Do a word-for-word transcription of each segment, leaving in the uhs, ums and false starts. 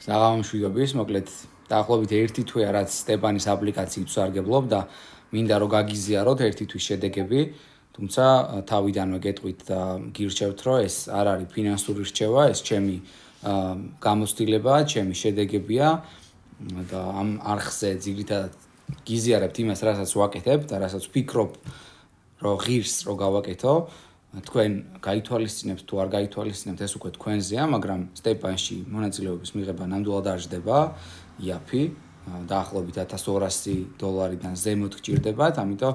საღამომშვიდობის, მოკლედ დაახლოებით ერთი თვეა რაც სტეპანის აპლიკაციით ვსარგებლობ და მინდა რომ გაგიზიაროთ ერთი თვის შედეგები, თუმცა თავიდანვე გეტყვით და გირჩევთ რომ ეს არ არის ფინანსური რჩევა, ეს ჩემი გამოცდილებაა, ჩემი შედეგებია და ამ არხზე ძირითადად გიზიარებთ იმას, რასაც ვაკეთებ და რასაც ვფიქრობ რომ ღირს რო გავაკეთო. თქვენ გაითვალისწინებთ თუ არ გაითვალისწინებთ ეს უკვე თქვენზეა, მაგრამ სტეპანში მონაწილეობის მიღება ნამდვილად არ ჯდება, იაფი, დაახლოებით ათას ორასი დოლარიდან ზემოთ გჭირდებათ, ამიტომ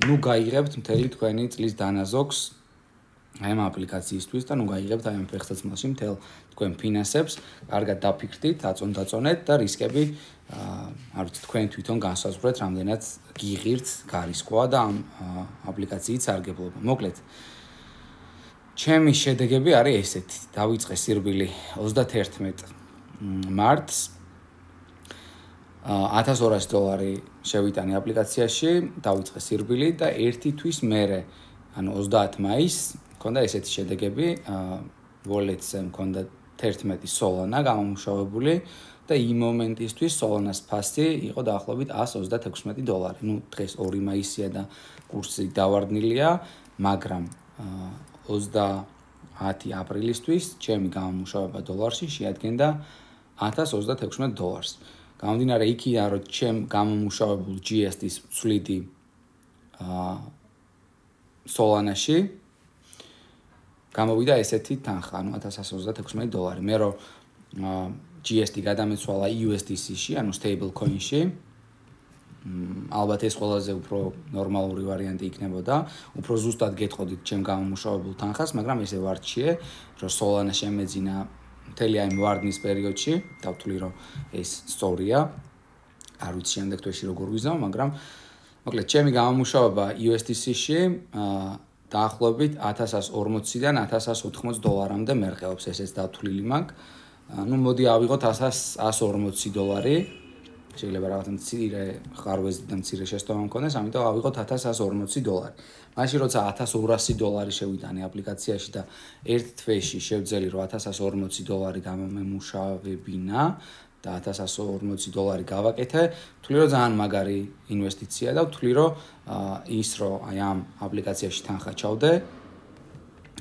ნუ გაიღებთ მთელი თქვენი წლის დანაზოგს აი ამ აპლიკაციისთვის და ნუ გაიღებთ აი ამ ფეხსაცმელში მთელ თქვენ ფინანსებს, კარგად დაფიქრდით, აწონ-დაწონეთ და რისკები არ ვიცი თქვენ თვითონ განსაზღვრეთ, რამდენად გიღირთ გარისკვა და ამ აპლიკაციით სარგებლობა. მოკლედ ჩემი შედეგები არის ესეთი. დავიწყე სირბილი ოცდაათერთმეტ მარტს ათას ორასი დოლარი შევიტანე აპლიკაციაში, დავიწყე სირბილი და ერთი თვის მერე, ანუ ოცდაათი მაისს მქონდა ესეთი შედეგები, Wallet-ზე მქონდა თერთმეტი სოლანა გამომუშავებული და იმ მომენტისთვის სოლანას ფასი იყო დაახლოებით ას ოცდათექვსმეტი დოლარი. ნუ დღეს ორი მაისია და კურსი დავარდნილია, მაგრამ ოცდაათი აპრილისთვის ჩემი გამომუშავება დოლარში შეადგენდა ათას ოცდათექვსმეტ დოლარს. გამომდინარე იქიდან, რომ ჩემ გამომუშავებულ ჯი ეს დი-ს ვცვლიდი სოლანაში, გამოვიდა ესეთი თანხა, ანუ ათას ას ოცდათექვსმეტი დოლარი. მე რო ჯი ეს დი გადამეცვალა იუ ეს დი სი-ში, ანუ stable coin-ში. ალბათ ეს ყველაზე უფრო ნორმალური ვარიანტი იქნებოდა. უფრო ზუსტად გეტყოდით ჩემ გამომუშავებულ თანხას, მაგრამ ესე ვარჩიე, რომ სოლანა შემეძინა მთელი აი ვარდნის პერიოდში, დავთვლი რომ ეს სწორია. არ ვიცი შემდეგ თვეში როგორ ვიზამ, მაგრამ მოკლედ ჩემი გამომუშავება იუ ეს დი სი-ში დაახლოებით ათას ას ორმოციდან ათას ას ოთხმოცი დოლარამდე მერყეობს, ესეც დავთვლილი მაქვს. ნუ მოდი ავიღოთ ას ორმოცი დოლარი. შეიძლება რაღაცა მცირე ხარვეზი და მცირე შეცდომა მქონდეს, ამიტომ ავიღოთ ათას ას ორმოცი დოლარი. მაშინ როცა ათას ორასი დოლარი შევიტანე აპლიკაციაში და ერთ თვეში შევძელი რომ ათას ას ორმოცი დოლარი გამომემუშავებინა და ათას ას ორმოცი დოლარი გავაკეთე, ვთვლი რომ ძალიან მაგარი ინვესტიცია და ვთვლი რომ ის რომ აი ამ აპლიკაციაში თანხა ჩავდე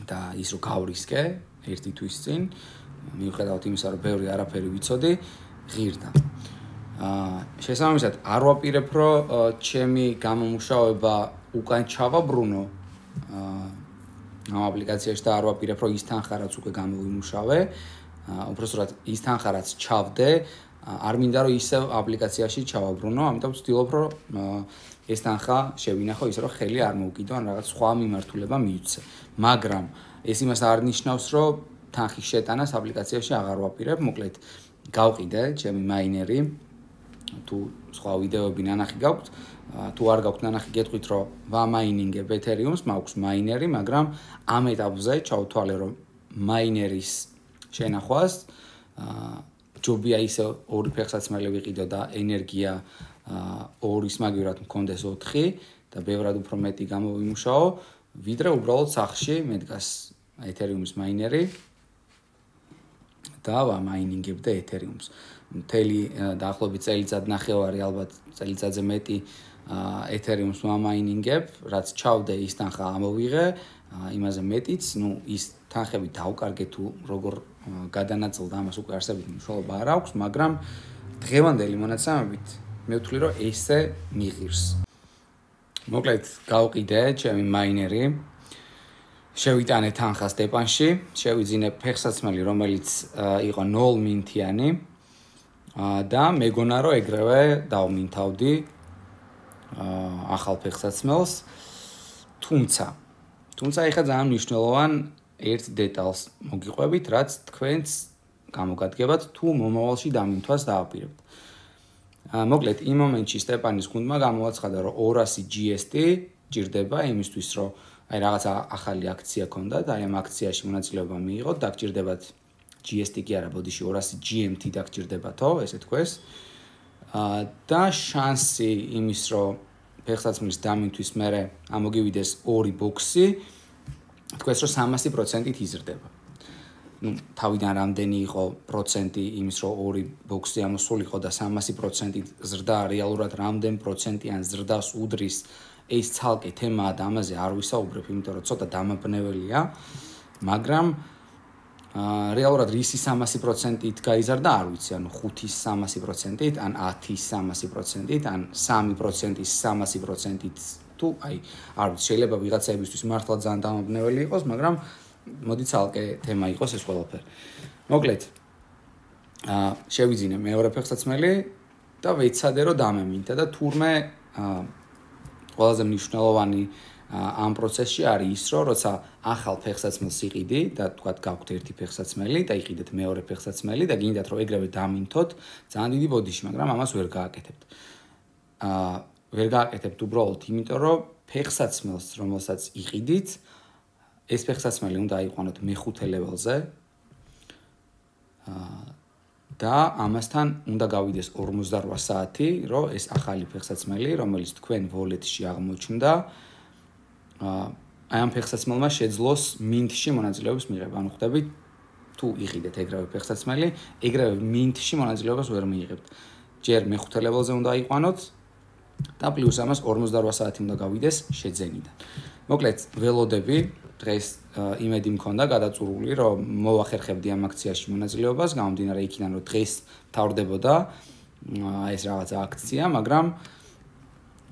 და ის რომ გავრისკე ერთი თვის წინ, მიუხედავად იმისა, რომ ბევრი არაფერი ვიცოდი, ღირდა. შესაბამისად, არ ვაპირებ, რომ ჩემი გამომუშავება უკან ჩავაბრუნო ამ აპლიკაციაში და არ ვაპირებ, რომ ის თანხა რაც უკვე გამოვიმუშავე, უпроსტად ის თანხა რაც ჩავდე, არ მინდა რომ ისევ აპლიკაციაში ჩავაბრუნო, ამიტომ ვცდილობ, რომ ეს თანხა შევინახო ისე, რომ ხელი არ მოუკიდო, ან რაღაც სხვა მიმართულება მივცე. მაგრამ ეს იმას არ ნიშნავს, რომ თანხის შეტანას აპლიკაციაში აღარ ვაპირებ, მოკლედ გავყიდე ჩემი მაინერი, თუ სხვა ვიდეოები ნანახი გაქვთ, თუ არ გაქვთ ნანახი, გეტყვით, რომ ვამაინინგებ ეთერიუმს, მაქვს მაინერი, მაგრამ ამ ეტაპზე ჩავთვალე, რომ მაინერის შენახვას ჯობია ისე ორი ფეხსაცმელი ვიყიდო და ენერგია ორის მაგივრად მქონდეს ოთხი და ბევრად უფრო მეტი გამოვიმუშაო, ვიდრე უბრალოდ სახლში მედგას ეთერიუმის მაინერი და ვამაინინგებდე ეთერიუმს. მთელი დაახლოებით წელიწად ნახევარი, ალბათ წელიწადზე მეტი ეთერიუმს ვამაინინგებ, რაც ჩავდე ის თანხა ამოვიღე, იმაზე მეტიც, ნუ ის თანხები დავკარგე თუ როგორ გადანაწილდა, ამას უკვე არსებით მნიშვნელობა არ აქვს, მაგრამ დღევანდელი მონაცემებით მე ვთვლი, რომ ესე მიღირს. მოკლედ გავყიდე ჩემი მაინერი, შევიტანე თანხა სტეპანში, შევიძინე ფეხსაცმელი, რომელიც იყო ნულ მინთიანი და მეგონა რომ ეგრევე დავმინთავდი ახალ ფეხსაცმელს, თუმცა თუმცა ეხლა ძალიან მნიშვნელოვან ერთ დეტალს მოგიყვებით, რაც თქვენს გამოგადგებათ თუ მომავალში დამინთვას დააპირებთ. მოკლედ იმ მომენტში სტეპანის გუნდმა გამოაცხადა, რომ ორასი ჯი ეს დი ჭირდება იმისთვის, რომ აი რაღაცა ახალი აქცია ქონდათ, აი ამ აქციაში მონაწილეობა მიიღოთ, დაგჭირდებათ ჯი ეს დი კი არა, ბოდიში ორასი ჯი ემ თი დაგჭირდებათო, ესე თქვეს. და შანსი იმის, რომ ფეხსაცმლის დამინთვის მერე ამოგივიდეს ორი ბოქსი, თქვეს რომ სამასი პროცენტით იზრდება. ну თავიდან რამდენი იყო პროცენტი იმის რომ ორი ბოქსი ამოსულიყო და სამასი პროცენტი ზრდა რეალურად რამდენ პროცენტიან ზრდას უდრის ეს ცალკე თემაა და ამაზე არ ვისაუბრებ იმიტომ რომ ცოტა დამაბნეველია მაგრამ აა რეალურად რისი სამასი პროცენტით გაიზარდა არ ვიცი ანუ ხუთის სამასი პროცენტით ან ათის სამასი პროცენტით ან სამი პროცენტის სამასი პროცენტით თუ აი არ ვიცი შეიძლება ვიღაცაებისთვის მართლა ძალიან დამაბნეველი იყოს მაგრამ მოდი ცალკე თემა იყოს ეს ყველაფერი. მოკლედ აა შევიძინე მეორე ფეხსაცმელი და ვეცადე რომ დამემინდა და თურმე აა ყველაზე მნიშვნელოვანი ამ პროცესში არის ის რომ როცა ახალ ფეხსაცმელს იყიდი და თქვათ გაქვთ ერთი ფეხსაცმელი და იყიდეთ მეორე ფეხსაცმელი და გინდათ რომ ეგრევე დამინთოთ ძალიან დიდი ბოდიში მაგრამ ამას ვერ გააკეთებთ. აა ვერ გააკეთებთ უბრალოდ იმიტომ რომ ფეხსაცმელს რომელსაც იყიდით ეს ფეხსაცმელი უნდა აიყვანოთ მეხუთე ლეველზე და ამასთან უნდა გავიდეს ორმოცდარვა საათი, რომ ეს ახალი ფეხსაცმელი, რომელიც თქვენ wallet-ში აღმოჩნდა, აი ამ ფეხსაცმელმა შეძლოს mint-ში მონაწილეობის მიღება. ანუ ხვდებით, თუ იყიდეთ ეგრევე ფეხსაცმელი, ეგრევე mint-ში მონაწილეობას ვერ მიიღებთ. ჯერ მეხუთე ლეველზე უნდა აიყვანოთ და პლუს ამას ორმოცდარვა საათი უნდა გავიდეს შეძენიდან. მოკლედ, ველოდები დღეს იმედი მქონდა გადაწურული, რომ მოვახერხებდი ამ აქციაში მონაწილეობას, გამომდინარე იქიდან, რომ დღეს თავრდებოდა ეს რაღაც აქცია, მაგრამ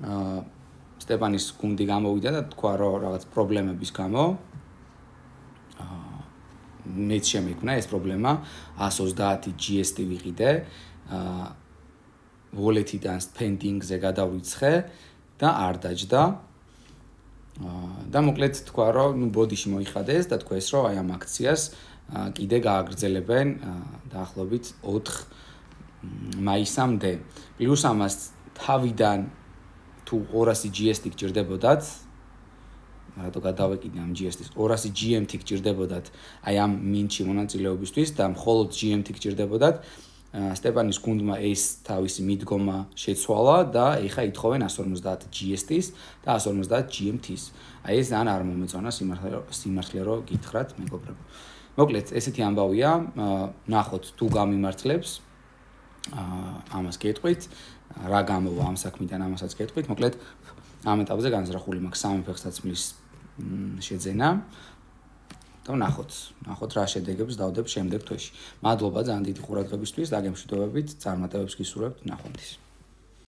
აა სტეპანის გუნდი გამოვიდა და თქვა, რომ რაღაც პრობლემების გამო აა მეც შემექმნა ეს პრობლემა, ას ოცდაათი ჯი ეს ტი ვიყიდე, აა wallet-იდან spending-ზე გადავიცხე და არ დაჯდა. და მოკლედ თქვა რომ ნუ ბოდიში მოიხადეს და თქვეს რომ აი ამ აქციას კიდე გააგრძელებენ დაახლოებით ოთხ მაისამდე. პლუს ამას თავიდან თუ ორასი ჯი ეს ტი გჭირდებოდათ, რატო გადავეკიდე ამ ჯი ეს ტის, ორასი ჯი ემ თი გჭირდებოდათ აი ამ mint-ში მონაწილეობისთვის და მხოლოდ ჯი ემ თი გჭირდებოდათ. სტეპანის გუნდმა ეს თავისი მიდგომა შეცვალა და ეხა ითხოვენ ას ორმოცდაათი ჯი ეს ტის და ას ორმოცდაათი ჯი ემ თის. აი ეს ძალიან არ მომეწონა სიმართლე რომ გითხრათ მეგობრებო. მოკლედ ესეთი ამბავია, ნახოთ თუ გამიმართლებს ამას გეტყვით, რა გამოვა ამ საქმიდან ამასაც გეტყვით. მოკლედ ამ ეტაპზე განზრახული მაქვს სამი ფეხსაცმლის შეძენა. და ნახოთ, ნახოთ რა შედეგებს დავდებ შემდეგ თვეში. მადლობა ძალიან დიდი ყურადღებისთვის და გემშვიდობებით, წარმატებებს გისურვებთ ნახვამდის.